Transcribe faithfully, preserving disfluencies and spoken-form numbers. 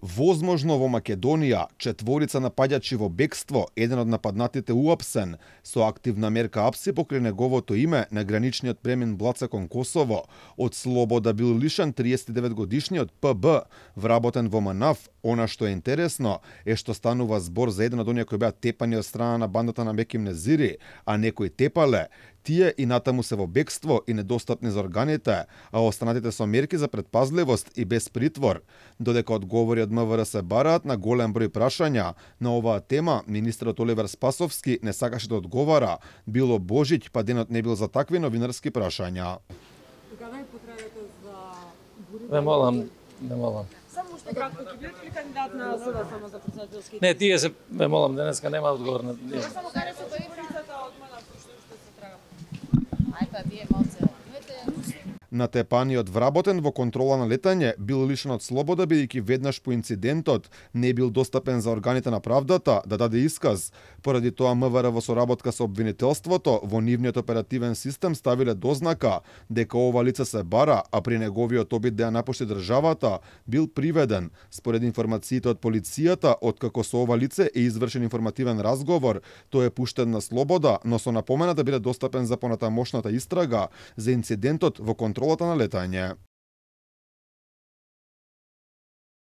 Возможно во Македонија, четворица напаѓачи во бегство, еден од нападнатите уапсен, со активна мерка апси покрај неговото име на граничниот премин Блаца кон Косово. Од слобода бил лишен триесет и девет годишниот П Б, вработен во МНАФ. Она што е интересно е што станува збор за еден од оние кои беа тепани од страна на бандата на Меким Незири, а некои тепале. Тие и натаму се во бегство и недостапни за органите, а останатите со мерки за предпазливост и без притвор. Додека одговори од М В Р се бараат на голем број прашања на оваа тема, министерот Оливер Спасовски не сакаше да одговара. Било Божиќ, па денот не бил за такви новинарски прашања. Кога ви потребате за бурите? Не молам, не молам. Само што кратко ќе бидете ли кандидат на СДСМ само за претседателски? Не, тие се, не молам, денеска нема одговор на тие. Само каде се бурицата од МНАФ што уште се трага? Ај па вие малце. Натепаниот вработен во контрола на летање бил лишен од слобода бидејќи веднаш по инцидентот не бил достапен за органите на правдата да даде исказ. Поради тоа М В Р во соработка со обвинителството во нивниот оперативен систем ставиле дознака дека ова лице се бара, а при неговиот обид да ја напушти државата бил приведен. Според информациите од полицијата, откако со ова лице е извршен информативен разговор, тој е пуштен на слобода, но со напомена да биде достапен за понатамошната истрага за инцидентот во контролата на летање.